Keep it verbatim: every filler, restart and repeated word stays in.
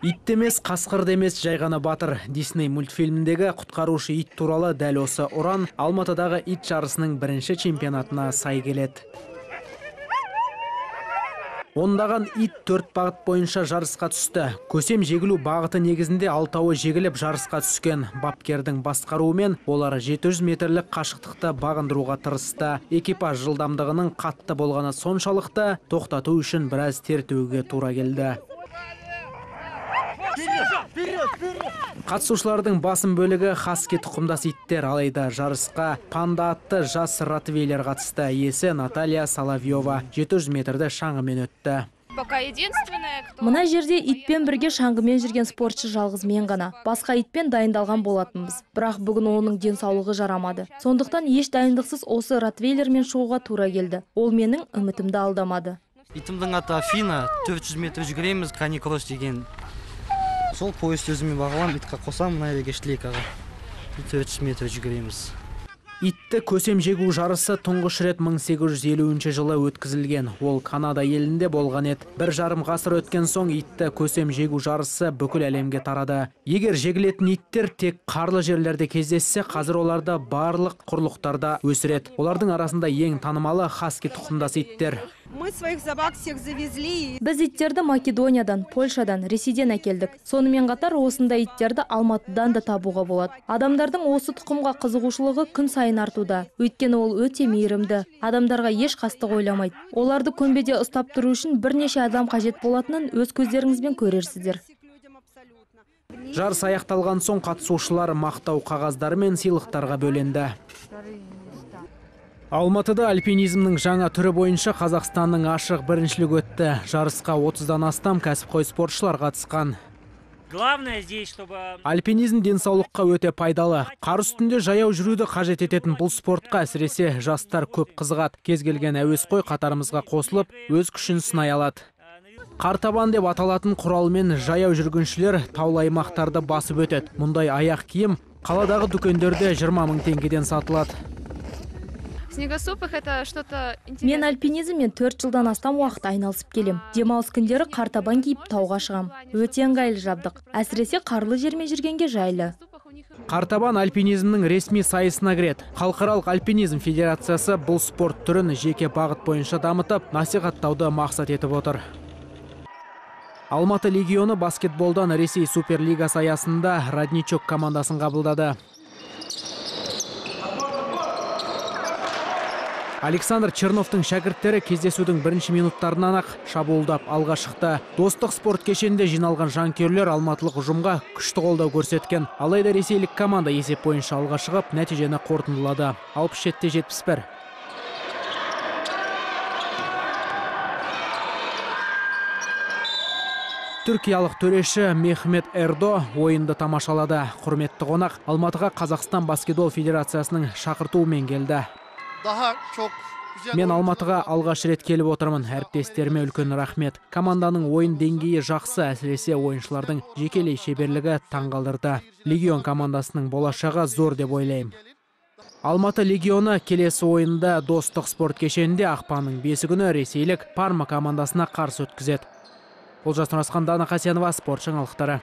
Ит емес, қасқыр емес, жай ғана батыр. Дисней мультфильміндегі құтқарушы ит туралы дәл осы ұран Алматыдағы ит жарысының бірінші чемпионатына сай келеді. Ондаған ит төрт бағыт бойынша жарысқа түсті. Көсем жегілу бағыты негізінде алтауы жегіліп жарысқа түскен. Бапкердің басқаруымен олар жеті жүз метрлік қашықтықты бағындыруға тырысты. Экипаж жылдамдығының қатты болғаны соншалықты тоқтату үшін біраз тер төгуге тура келді. Қатысушылардың басым бөлігі хаски тұқымдас иттер, алайда жарысқа панда атты жас ротвейлер қатысты. Иесі Наталья Соловьева жеті жүз метрді шаңғымен өтті. Мына жерде итпен бірге шаңғымен жүрген спортшы жалғыз мен ғана. Басқа итпен дайындалған болатынбыз. Бірақ бүгін оның денсаулығы жарамады. Сондықтан еш дайындықсыз осы ротвейлермен шығуға тура келді. Ол менің үмітімді алдамады. Итімдің аты Афина, төрт жүз метр жүгіреміз, каникросс деген. Сол поезд өзімен бағалам, итқа қосам, мына жерге шлейкаға. төрт жүз метр жүгіреміз. Итті көсем жегу жарысы тұңғыш рет мың сегіз жүз елуінші жылы өткізілген. Ол Канада елінде болған еді. Бір жарым ғасыр өткен соң итті көсем жегу жарысы бүкіл әлемге тарады. Егер жегілетін иттер тек қарлы жерлерде кездессе, қазір оларды барлық құрлықтарда өсіреді. Олардың арасында ең танымалы хаски тұқымдас иттер. Біз иттерді Македониядан, Польшадан, Ресейден әкелдік. Сонымен қатар осында иттерді Алматыдан да табуға болады. Адамдардың осы тұқымға қызығушылығы күн сайын артуда. Өйткені ол өте мейірімді. Адамдарға еш қастық ойламайды. Оларды көмбеде ұстап тұру үшін бірнеше адам қажет болатынын өз көздеріңізбен көрерсіздер. Жарыс аяқталған соң қатысушылар мақтау қағаздары мен сыйлықтарға бөленді. Алматыда альпинизмнің жаңа түрі бойынша Қазақстанның ашық біріншілігі өтті. Жарысқа отыздан астам кәсіпқой спортшылар қатысқан. Альпинизм денсаулыққа өте пайдалы. Қар үстінде жаяу жүруді қажет ететін бұл спортқа әсіресе жастар көп қызығады. Кез келген әуесқой қатарымызға қосылып, өз күшін сынай алады. Қартабан деп аталатын құралмен жаяу жүргіншілер таулы аймақтарды басып өтеді. Мұндай аяқ киім қаладағы дүкендерде жиырма мың теңгеден сатылады. Мен альпинизммен төрт жылдан астам уақыт айналысып келем. Демалыс күндері қартабан киіп тауға шығам. Өте ыңғайлы жабдық. Әсіресе қарлы жермен жүргенге жайлы. Қартабан альпинизмнің ресми сайысына кіреді. Халықаралық альпинизм федерациясы бұл спорт түрін жеке бағыт бойынша дамытып, насихаттауды мақсат етіп отыр. Алматы легионы баскетболдан Ресей Суперлигасы аясында Родничок командасын қабылдады. Александр Черновтың шәкірттері кездесудің бірінші минуттарынан ақ шабуылдап алға шықты. Достық спорт кешенде жиналған жанкүйерлер алматылық ұжымға күшті қолдау көрсеткен. Алайда ресейлік команда есеп бойынша алға шығып, нәтижені қорытындылады. алпыс жетіде жетпіс бір. Түркиялық төреші Мехмет Эрдо ойынды тамашалады. Құрметті қонақ Алматыға Қазақстан баскетбол федерациясының шақыртуымен келді. Мен Алматыға алғаш рет келіп отырмын. Әріптестеріме үлкен рахмет. Команданың ойын деңгейі жақсы, әсіресе ойыншылардың жекелей шеберлігі таңғалдырды. Легион командасының болашағы зор деп ойлаймын. Алматы легионы келесі ойында Достық спорт кешенінде ақпанның бесі күні ресейлік Парма командасына қарсы өткізеді. Олжас Нұрасқан, Дана Қасенова, спорт жаңалықтары.